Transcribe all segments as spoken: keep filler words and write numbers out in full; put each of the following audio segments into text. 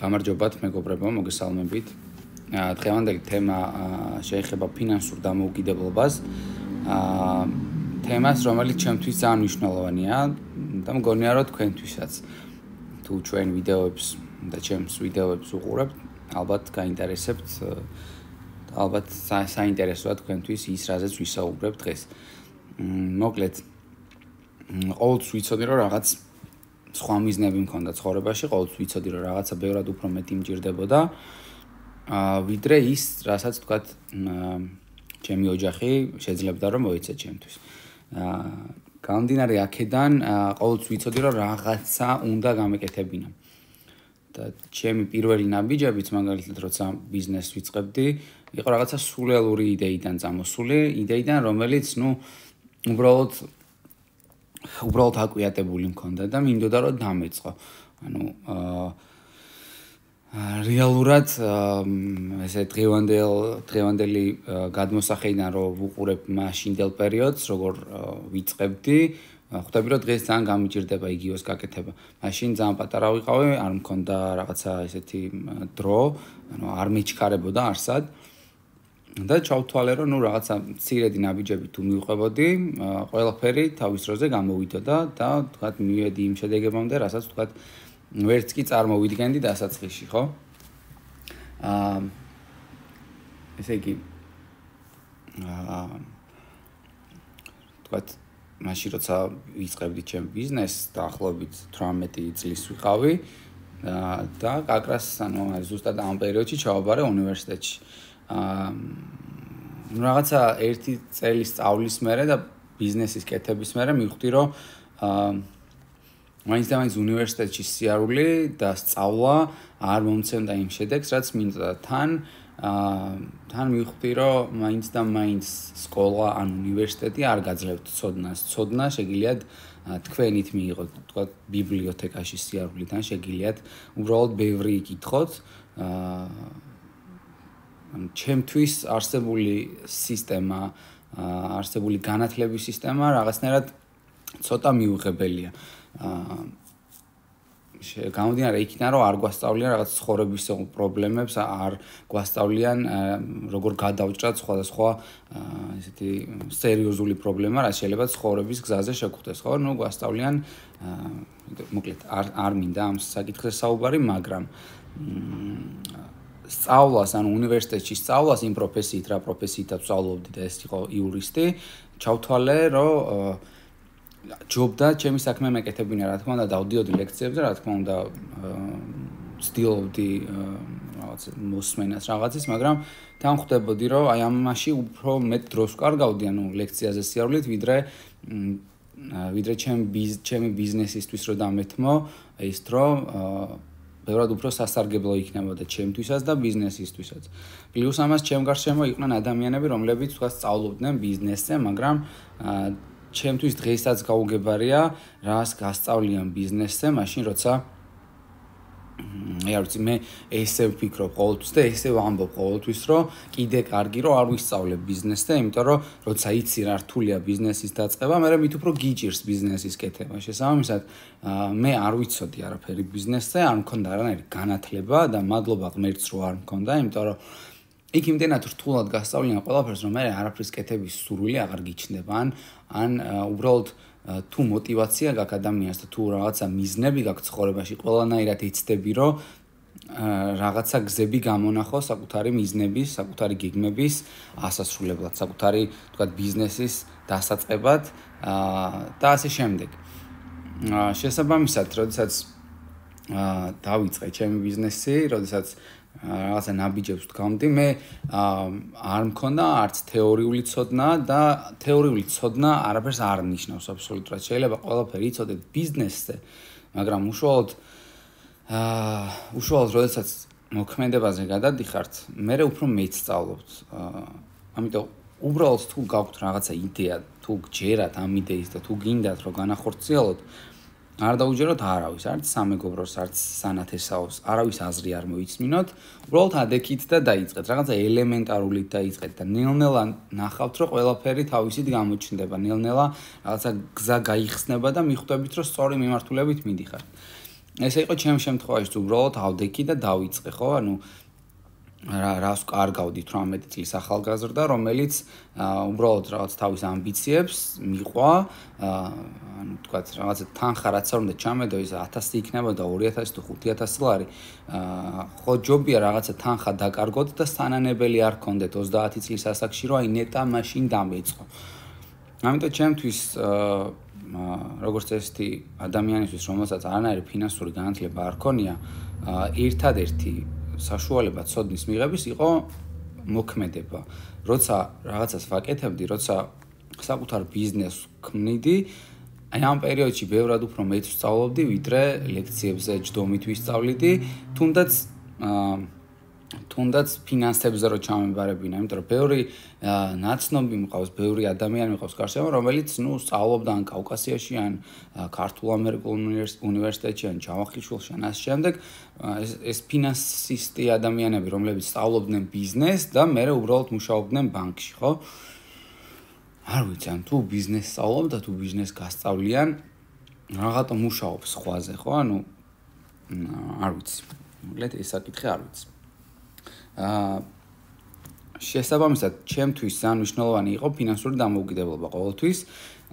გამარჯობათ მეგობრებო, მოგესალმებით. დღევანდელი თემა შეეხება ფინანსურ დამოუკიდებლობას. თემას, რომელიც ჩემთვის ძალიან მნიშვნელოვანია და მგონია, რომ თქვენთვისაც. თუ ჩვენ ვიდეოებს და ჩემს ვიდეოებს უყურებთ, ალბათ გაინტერესებთ, ალბათ საინტერესოა თქვენთვის ის, რაზეც ვისაუბრებ დღეს. მოკლედ, ყოველთვის ვიცოდი, რომ რაღაც სხვა მიზნები მქონდა ცხოვრებაში, ყოველთვის ვიცოდი, რომ რაღაცა ბევრად უფრო მეტი მჭირდებოდა, ვიდრე ის, რასაც თქვათ, ჩემი ოჯახი შეძლებდა რომ მოეცე ჩემთვის. გამომდინარე აქედან, ყოველთვის ვიცოდი, რომ რაღაცა უნდა გამეკეთებინა. და ჩემი პირველი ნაბიჯებიც, მაგალითად, როცა ბიზნესს ვიწყებდი, იყო რაღაცა სულელური იდეიდან წამოსული, იდეიდან, რომელიც, ну, უბრალოდ უბრალოდ აკვიატებული მქონდა და მინდოდა რომ დამეწყო. ანუ რეალურად ესე დღევანდელ დღევანდელი გადმოსახედიდან რომ ვუყურებ მაშინდელ პერიოდს, როგორ ვიწყებდი, ხვდები რომ დღეს ძალიან გამიჭირდება იგივეს გაკეთება. მაშინ ძალიან პატარა ვიყავი, არ მქონდა რაღაცა ესეთი დრო, ანუ არ მეჩქარებოდა არსად. და ჩავთვალე რომ ნუ რაღაცა მცირედი ნაბიჯები თუ მივყვებოდი, ყველაფერი თავის დროზე გამოვიდოდა და თქვათ მივედი იმ შედეგებამდე, რასაც თქვათ ვერც კი წარმოვიდგენდი დასაწყისში, ხო? აა ესე იგი აა თქვათ მაშინ როცა ვიწყებდი ჩემ ბიზნესს, დაახლოებით თვრამეტი წლის ვიყავი და კაკრას, ანუ ზუსტად ამ პერიოდში ჩავაბარე უნივერსიტეტში. აა რაღაცა ერთი წელის სწავლის მერე და ბიზნესის კეთების მერე მივხვდი რომ აა მაინც და მაინც უნივერსიტეტში სიარული და სწავლა არ მომცემდა იმ შედეგს, რაც მინდოდა. თან აა თან მივხვდი რომ მაინც და მაინც სკოლა ან უნივერსიტეტი არ გაძლევთ ცოდნას. ცოდნა შეგიძლიათ თქვენით მიიღოთ, თქვათ ბიბლიოთეკაში სიარულიდან შეგიძლიათ უბრალოდ ბევრი იკითხოთ. აა ჩემთვის არსებული სისტემა, არსებული განათლების სისტემა რაღაცნაირად ცოტა მიუღებელია. გამომდინარე იქიდან, რომ არ გვასწავლიან რაღაც ცხოვრების პრობლემებს, არ გვასწავლიან როგორ გადავჭრათ სხვადასხვა ესეთი სერიოზული პრობლემა, რაც შეიძლება ცხოვრების გზაზე შეგვხვდეს, ხო? ნუ გვასწავლიან, მოკლედ არ არ მინდა ამ საკითხზე საუბარი, მაგრამ სწავლას, ანუ უნივერსიტეტში სწავლას იმ პროფესიით, რა პროფესიითაც ვსწავლობდი და ეს იყო იურისტი, ჩავთვალე, რომ ჯობდა ჩემი საქმე მეკეთებინა, რა თქმა უნდა, დავდიოდი ლექციებზე, რა თქმა უნდა, ვცდილობდი რაღაც მოსმენას რაღაცის, მაგრამ თან ხვდებოდი, რომ აი ამაში უფრო მეტ დროს ვკარგავდი, ანუ ლექციაზე სიარულით, ვიდრე ვიდრე ჩემი ჩემი ბიზნესისთვის რო დამეთმო, ის დრო ბევრად უფრო სასარგებლო იქნებოდა ჩემთვისაც და ბიზნესისთვისაც. პლუს ამას ჩემ გარშემო იყვნენ ადამიანები, რომლებიც თქვა სწავლობდნენ ბიზნესზე, მაგრამ ჩემთვის დღესაც გაუგებარია, რას გასწავლიან ბიზნესზე, მაშინ როცა აი არ ვიცი, მე ესე ვფიქრობ ყოველთვის და ესე ვამბობ ყოველთვის, რომ კიდე კარგი რომ არ ვისწავლებ ბიზნესზე, იმიტომ რომ როცა იცი რა რთულია ბიზნესის დაწყება, მე მით უფრო გიჭირს ბიზნესის კეთება. შესაბამისად, მე არ ვიცოდი არაფერი ბიზნესზე, არ მქონდა არანაირი განათლება და მადლობა ღმერთს რომ არ მქონდა, იმიტომ რომ იქ იმდენად რთულად გასწავლიან ყველაფერს, რომ მე არაფრის კეთების სურვილი აღარ გიჩნდება, ან ან უბრალოდ თუ мотивация გაქვს ადამიანს და თუ რაღაცა მიზნები გაქვს ცხოვრებაში, ყველანაირად იცდები, რომ რაღაცა გზები გამონახო საკუთარი მიზნების, საკუთარი გეგმების ასასრულებლად, საკუთარი, თქვათ, ბიზნესის დასაწყებად და ასე შემდეგ. შესაბამისად, როდესაც დავიწყე ჩემი ბიზნესი, როდესაც რაღაცა ნაბიჯებს ვდგამდი, მე არ მქონდა არც თეორიული ცოდნა და თეორიული ცოდნა არაფერს არ ნიშნავს აბსოლუტურად. შეიძლება ყველაფერი იცოდეთ ბიზნესზე, მაგრამ უშუალოდ აა უშუალოდ როდესაც მოქმედებაზე გადადიხართ, მე უფრო მეც სწავლობთ. ამიტომ უბრალოდ თუ გაქვთ რაღაცა იდეა, თუ გჯერათ ამ იდეის და თუ გინდათ რომ განახორციელოთ, არ დაუჯეროთ არავის, არც სამეგობროს, არც სანათესაოს, არავის აზრი არ მოიცმინოთ, უბრალოდ ადექით და დაიწყეთ. რაღაცა ელემენტარულით დაიწყეთ და ნელ-ნელა ნახავთ, რომ ყველაფერი თავისით გამოჩნდება, ნელ-ნელა რაღაცა გზა გაიხსნება და მიხვდებით, რომ სწორი მიმართულებით მიდიხართ. ესე იყო ჩემ შემთხვევაში უბრალოდ ავდექი და დავიწყე, ხო? ანუ რა რას კარგავდით რამეტი წლის ახალგაზრდა, რომელიც უბრალოდ რაღაც თავის ამბიციებს მიყვა, ანუ თქვათ რაღაცა თანხა რაც არ უნდა ჩამედო ის ათასი იქნებოდა ორი ათასი თუ ხუთი ათასი ლარი. ხო ჯობია რაღაცა თანხა დაკარგოთ და სანანებელი არ გქონდეთ ოცდაათი წლის ასაკში, რომ აი ნეტა მაშინ დამეწყო. ამიტომ ჩემთვის როგორც ესეთი ადამიანისთვის, რომელსაც არანაირი ფინანსური განათლება არ ქონია, ერთადერთი საშუალება ცოდნის მიღების იყო მოქმედება. როცა რაღაცას ვაკეთებდი, როცა საკუთარ ბიზნესს ქმნიდი, აი ამ პერიოდში ბევრად უფრო მეც ვსწავლობდი, ვიდრე ლექციებზე ჯდომით ვისწავლიდი, თუნდაც თუნდაც ფინანსებზე რო ჩამებარებინა, იმიტომ რომ ბევრი ნაცნობი მყავს, ბევრი ადამიანი მყავს გარშემო, რომელიც ნუ სწავლობდა ან კავკასიაში, ან ქართულ ამერიკულ უნივერსიტეტში, ან ჯავახიშვილში, ან ასე შემდეგ, ეს ეს ფინანსისტი ადამიანები, რომლებიც სწავლობდნენ ბიზნესს და მერე უბრალოდ მუშაობდნენ ბანკში, ხო? არ ვიცი, ან თუ ბიზნესს სწავლობ და თუ ბიზნესს გასწავლიან, რაღაცა მუშაობს სხვაზე, ხო? ანუ არ ვიცი. მოკლედ ეს საკითხი არ ვიცი. აა შესაბამისად, ჩემთვის ძალიან მნიშვნელოვანი იყო ფინანსური დამოუკიდებლობა ყოველთვის.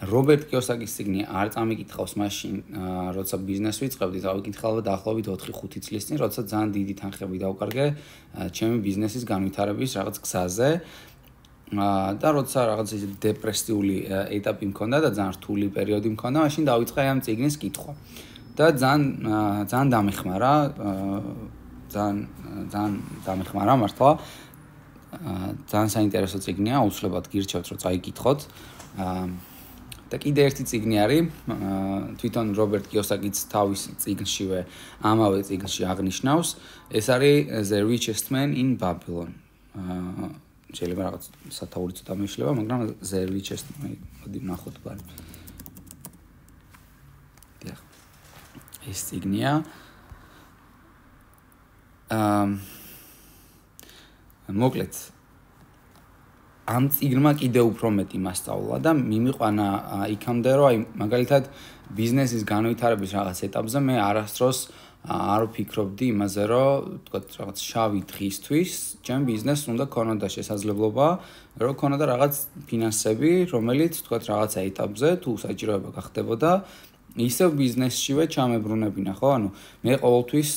რობერტ კიოსაკის წიგნი არ წამიკითხავს მაშინ, როცა ბიზნესს ვიწყებდი, წავიკითხავდა დაახლოებით ოთხი ხუთი წლის წინ, როცა ძალიან დიდი თანხები დავკარგე ჩემი ბიზნესის განვითარების რაღაც გზაზე. და როცა რაღაც ის დეპრესიული ეტაპი მქონდა და ძალიან რთული პერიოდი მქონდა, მაშინ დავიწყე ამ წიგნის კითხვა. და ძალიან ძალიან დამეხმარა, ძალიან ძალიან დამეხმარა მართლა. ძალიან საინტერესო წიგნია, აუცილებლად გირჩევთ, რომ წაიკითხოთ. და კიდე ერთი წიგნი არის, თვითონ რობერტ კიოსაკიც თავის წიგნშივე ამავე წიგნში აღნიშნავს, ეს არის The Richest Man in Babylon. შეიძლება რაღაც სათაური ცოტა მეშლება, მაგრამ The Richest Man, მოდი ნახოთ ბარი. დიახ. ეს წიგნია. აა მოკლედ ამ წიგნმა კიდე უფრო მეტი მასწავლა და მიმიყვანა იქამდე, რომ აი მაგალითად ბიზნესის განვითარების რაღაც ეტაპზე მე არასდროს არ ვფიქრობდი იმაზე, რომ თქვათ რაღაც შავი დღისთვის ჩემ ბიზნესს უნდა ქონოდა შესაძლებლობა, რომ ქონოდა რაღაც ფინანსები, რომელიც თქვათ რაღაცა ეტაპზე თუ საჭიროება გახდებოდა, ისევ ბიზნესშივე ჩამებრუნებინა, ხო? ანუ მე ყოველთვის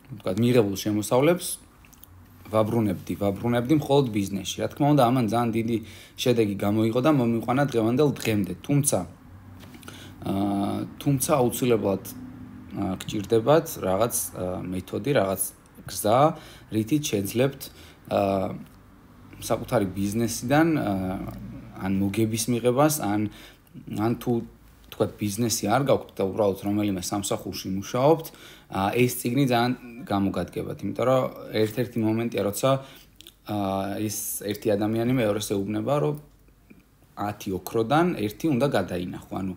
თქვათ მიღებულ შემოსავლებს ვაბრუნებდი, ვაბრუნებდი მხოლოდ ბიზნესში. რა თქმა უნდა, ამან ძალიან დიდი შედეგი გამოიღო და მომიყვანა დღევანდელ დღემდე. თუმცა აა თუმცა აუცილებლად გჭირდებათ რაღაც მეთოდი, რაღაც გზა, რითიც შეძლებთ აა საკუთარი ბიზნესიდან ან მოგების მიღებას, ან ან თუ თქვათ ბიზნესი არ გაქვთ და უბრალოდ რომელიმე სამსახურში მუშაობთ, ეს წიგნი ძალიან გამოგადგებათ, იმიტომ რომ ერთ-ერთი მომენტია, როცა ეს ერთი ადამიანი მეორეს ეუბნება, რომ ათი ოქროდან ერთი უნდა გადაინახო, ანუ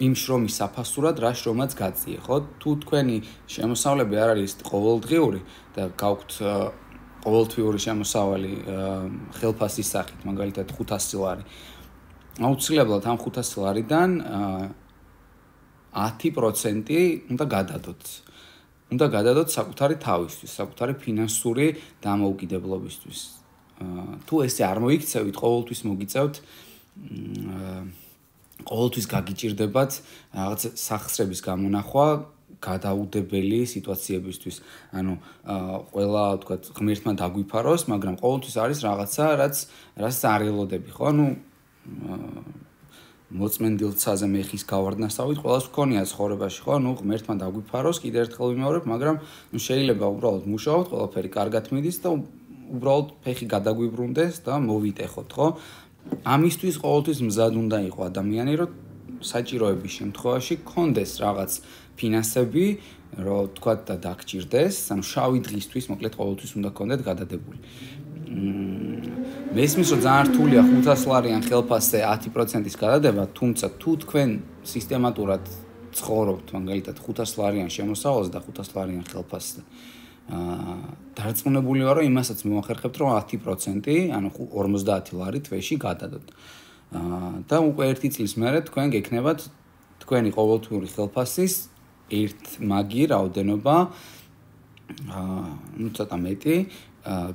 იმ შრომის საფასურად რა შრომაც გაწიე, ხო? თუ თქვენი შემოსავლები არ არის ყოველდღიური და გაქვთ ყოველთვიური შემოსავალი ხელფასის სახით, მაგალითად ხუთასი ლარი, აუცილებლად ამ ხუთასი ლარიდან ათი პროცენტი უნდა გადადოთ. უნდა გადადოთ საკუთარი თავისთვის, საკუთარი ფინანსური დამოუკიდებლობისთვის. თუ ესე არ მოიქცევით, ყოველთვის მოგიწევთ ყოველთვის გაგიჭირდებათ რაღაც სახსრების გამონახვა გადაუდებელი სიტუაციებისთვის. ანუ ყველა თქვა ღმერთმა დაგვიფაროს, მაგრამ ყოველთვის არის რაღაცა, რაც რაც არ ელოდები, ხო? ანუ მოწმენდილცაზე მეხის გავარდნასავით ყველას გქონია ცხოვრებაში, ხო? ნუ ღმერთმა დაგვიფაროს, კიდევ ერთხელ ვიმეორებ, მაგრამ ნუ შეიძლება უბრალოდ მუშაობთ, ყველაფერი კარგად მიდის და უბრალოდ ფეხი გადაგვიბრუნდეს და მოვიტეხოთ, ხო? ამისთვის ყოველთვის მზად უნდა იყო ადამიანი, რომ საჭიროების შემთხვევაში გქონდეს რაღაც ფინანსები, რომ თქვა და დაგჭირდეს, ანუ შავი დღისთვის, მოკლედ ყოველთვის უნდა გქონდეთ გადადებული. მესმის რომ ძალიან რთულია ხუთასი ლარიან ხელფასზე ათი პროცენტის გადადება, თუმცა თუ თქვენ სისტემატურად ცხოვრობთ, მაგალითად ხუთასი ლარიან შემოსავალს და ხუთასი ლარიან ხელფასზე, აა დარწმუნებული ვარ, რომ იმასაც მოახერხებთ, რომ ათი პროცენტი, ანუ ორმოცდაათი ლარი თვეში გადადოთ. აა და უკვე ერთი წლის მერე თქვენ გექნებათ თქვენი ყოველთვიური ხელფასის ერთ მაგი რაოდენობა აა ну ცოტა მეტი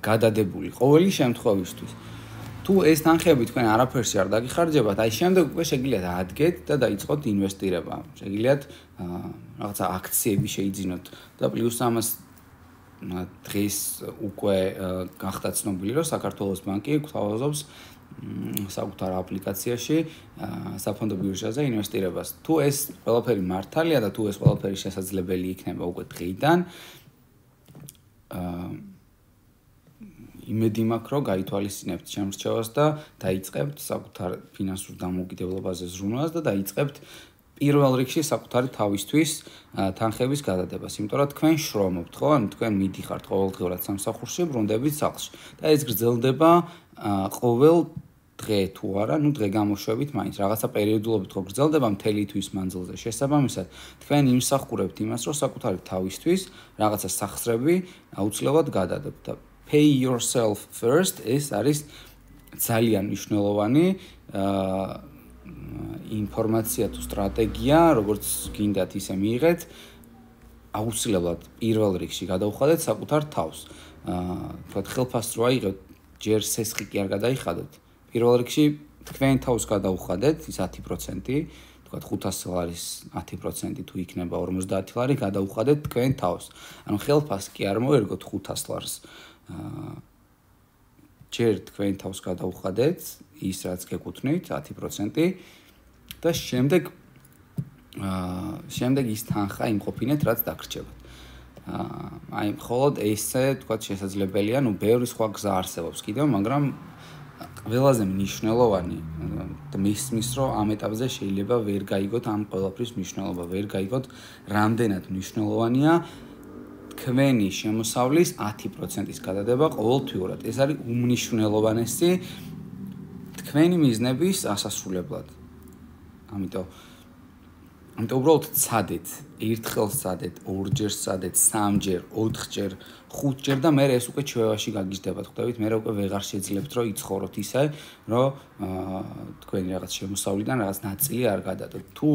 გადადებული ყოველი შემთხვევისთვის. თუ ეს თანხები თქვენ არაფერში არ დაგიხარჯებათ, აი შემდეგ უკვე შეგიძლიათ ადგეთ და დაიწყოთ ინვესტირება. შეგიძლიათ რაღაცა აქციები შეიძინოთ და პლუს ამას დღეს უკვე გახდა ცნობილი, რომ საქართველოს ბანკი გვთავაზობს საკუთარ აპლიკაციაში საფონდო ბირჟაზე ინვესტირებას. თუ ეს ყველაფერი მართალია და თუ ეს ყველაფერი შესაძლებელი იქნება უკვე დღეიდან, აა იმედი მაქვს, რომ გაითვალისწინებთ შემრჩევას და დაიწყებთ საკუთარ ფინანსურ დამოუკიდებლობაზე ზრუნვას და დაიწყებთ პირველ რიგში საკუთარი თავისთვის თანხების გადადებას. იმიტომ რომ თქვენ შრომობთ, ხო? ანუ თქვენ მიდიხართ ყოველდღიურად სამსახურში, ბრუნდებით სახლში. და ეს გრძელდება ყოველ დღე თუ არა, ну დღე გამოშვებით მაინც რაღაცა პერიოდულობით ხო გრძელდება მთელი თვის მანძილზე. შესაბამისად, თქვენ იმსახურებთ იმას, რომ საკუთარი თავისთვის რაღაცა სახსრები აუცილებლად გადადებთ და pay yourself first ეს არის ძალიან მნიშვნელოვანი ინფორმაცია თუ სტრატეგია, როგორც გინდათ ისე მიიღეთ, აუცილებლად პირველ რიგში გადაუხადეთ საკუთარ თავს. თქვათ ხელფასტრო აიღეთ, ჯერ სესხი კი არ გადაიხადოთ. პირველ რიგში თქვენ თავს გადაუხადეთ ის ათი პროცენტი, თქვათ ხუთასი ლარის ათი პროცენტი თუ იქნება ორმოცდაათი ლარი გადაუხადეთ თქვენ თავს. ანუ ხელფასს კი არ მოერგოთ ხუთას ლარს. ჯერ თქვენ თავს გადაუხადეთ ის რაც გეკუთვნით ათი პროცენტი და შემდეგ აა შემდეგ ის თანხა იმყოფინეთ რაც დაგრჩებათ. აა აი მხოლოდ ესე თქვათ შესაძლებელია, ну ბევრი სხვა გზა არსებობს კიდევ, მაგრამ ყველაზე მნიშვნელოვანი და მისმის რომ ამ ეტაპზე შეიძლება ვერ გაიგოთ ამ ყველაფრის მნიშვნელობა, ვერ გაიგოთ რამდენად მნიშვნელოვანია თქვენი შემოსავლის ათი პროცენტის გადადება ყოველთვიურად. ეს არის უმნიშვნელოვანესი თქვენი მიზნების ასასრულებლად. ამიტომ ამიტომ უბრალოდ ცადეთ, ერთხელ ცადეთ, ორჯერ ცადეთ, სამჯერ, ოთხჯერ, ხუთჯერ და მე ეს უკვე ჩვევაში გაგიჟდებათ, ხვდებით, მე უკვე ვეღარ შეძლებთ რომ იცხოვროთ ისე, რომ თქვენი რაღაც შემოსავლიდან რაღაც ნაწილი არ გადადოთ. თუ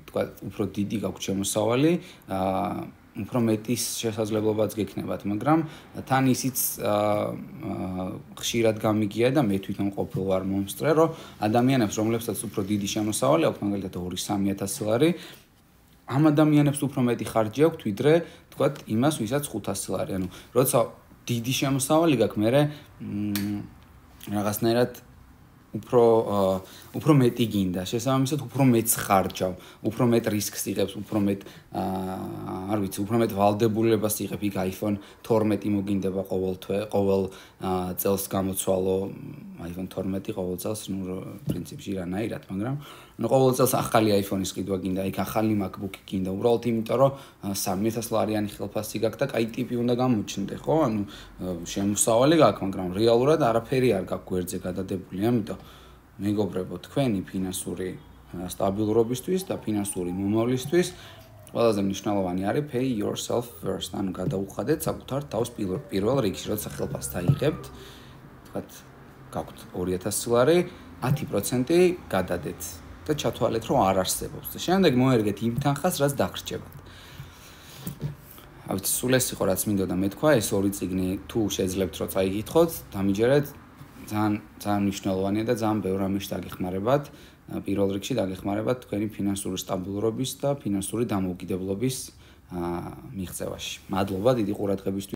თქვა უფრო დიდი გაქვთ შემოსავალი, აა უფრო მეტის შესაძლებლობაც გექნებათ, მაგრამ თან ისიც ხშირად გამიგია და მე თვითონ ყოფილ ვარ მომსწრე, რომ ადამიანებს, რომლებსაც უფრო დიდი შემოსავალი აქვს, მაგალითად ორი სამი ათასი ლარი, ამ ადამიანებს უფრო მეტი ხარჯი აქვთ, ვიდრე თქვათ იმას, ვისაც ხუთასი ლარი. ანუ როცა დიდი შემოსავალი გაქვს, მე რაღაცნაირად უფრო უფრო მეტი გინდა, შესაბამისად უფრო მეტს ხარჯავ, უფრო მეტ რისკს იღებს, უფრო მეტ არ ვიცი, უფრო მეტ ვალდებულებას იღებ, იქ iPhone თორმეტი მოგინდება ყოველ თვე, ყოველ წელს გამოცვალო, iPhone თორმეტი ყოველ წელს, ну, პრინციპში რანაირად, მაგრამ ну, ყოველ წელს ახალი iPhone-ის ყიდვა გინდა, იქ ახალი MacBook-ი გინდა, უბრალოდ იმიტომ, რომ სამი ათასი ლარიანი ხელფასი გაქვს და კაი ტიპი უნდა გამოჩნდე, ხო? ანუ შემოსავალი გაქვს, მაგრამ რეალურად არაფერი არ გაქვს გვერდზე გადადებული, ამიტომ მეგობრებო, თქვენი ფინანსური სტაბილურობისთვის და ფინანსური მომავლისთვის ყველაზე მნიშვნელოვანი არის pay yourself first. ანუ გადაუხადეთ საკუთარ თავს პირველ რიგში, როცა ხელფასს დაიღებთ, თქვათ, გაქვთ ორი ათასი ლარი, ათი პროცენტი გადადეთ და ჩათვალეთ, რომ არ არსებობს. და შემდეგ მოერგეთ იმ თანხას, რაც დაგრჩებათ. ავით სულ ეს იყო, რაც მინდოდა მეთქვა, ეს ორი წიგნი თუ შეძლებთ, რომ წაიგითხოთ, დამიჯერეთ, ძალიან ძალიან მნიშვნელოვანია და ძალიან ბევრ რამეში დაგეხმარებათ. პირველ რიგში დაგეხმარებათ თქვენი ფინანსური სტაბილურობის და ფინანსური დამოუკიდებლობის მიღწევაში. მადლობა დიდი ყურადღებისთვის.